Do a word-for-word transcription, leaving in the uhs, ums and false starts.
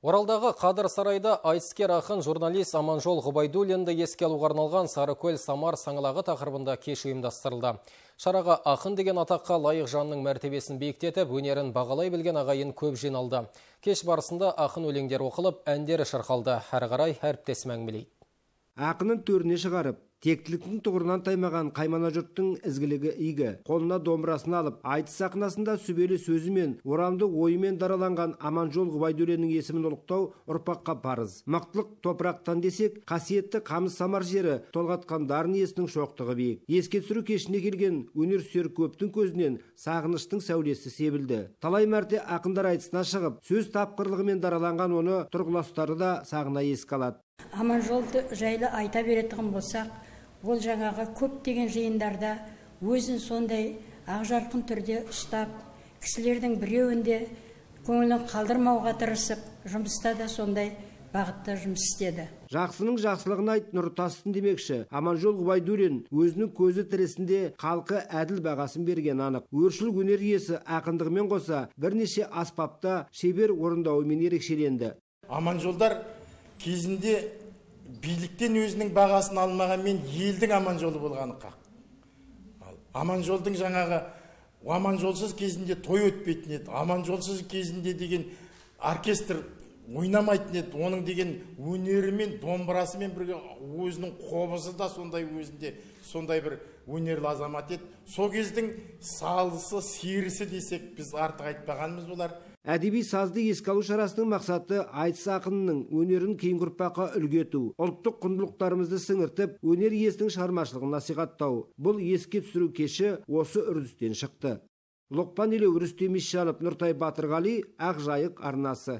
Оралдағы Қадыр сарайда айтыскер ақын журналист Аманжол Ғұбайдуллинді еске алуға арналған Сарыкөл Самар саңылағы тақырыбында кеш ұйымдастырылды. Шараға ақын деген атаққа лайық жанның мәртебесін биіктетіп, өнерін бағалай білген ағайын көп жиналды. Кеш барысында ақын өлеңдер оқылып, әндері шырқалды. Әрі қарай әріптесім әңгімелейді. Ақынын төріне шығарып, тектіліктің тұғырынан таймаған қаймана жұрттың ізгілігі игі. Қолына домбырасын алып, айтыс сахнасында сүбелі сөзімен, орамды ойымен дараланған Аманжол Ғұбайдуллиннің есімін ұлықтау ұрпаққа парыз. Мақтылық топырақтан десек, қасиетті Қамыс Самар жері толғатқан дарын иесінің шоқтығы биік. Еске түсіру кешіне келген өнер сүйер көптің көзінен сағыныштың сәулесі себілді. Талай мәрте ақындар айтысына шығып, сөз тапқырлығымен дараланған оны тұрғыластары да сағына еске алады. Аманжолды жайлы айта беретін болсақ, ол жаңағы көптеген жиындарда өзін сондай ақжарқын түрде ұстап, кісілердің біреуінде көңілін қалдырмауға тырысып, жұмыста да сондай бағытта жұмыс істеді. Жақсының жақсылығын айт, нұр тасын демекші. Аманжол Ғұбайдуллин өзінің көзі тірісінде халқы әділ бағасын берген анық. Өршіл өнер иесі ақындығымен қоса бірнеше аспапта шебер орындауымен ерекшеленді. Аманжолдар кезінде биліктен өзінің бағасын алмағанмен елдің аманжолы болғаны қақ. Аманжолдың жаңағы аманжолсыз кезінде той өтпейтін еді. Аманжолсыз кезінде деген оркестр ойнамайтын еді. Оның деген өнерімен, домбырасымен бірге өзінің қобызы да сондай өзінде сондай бір өнерлі азамат еді. Сол кездің салысы, серісі десек, біз артық айтпағанымыз болар. Әдеби сазды еске алу шарасының мақсаты айтыс ақынының өнерін кейінгі ұрпаққа үлгі ету, ұлттық құндылықтарымызды сіңіртіп, өнер иесінің шығармашылығын насихаттау. Бұл еске түсіру кеші осы үрдістен шықты. Лұқпан Елеу, Рүстем Исжанов, Нұртай Батырғали, Ақжайық арнасы.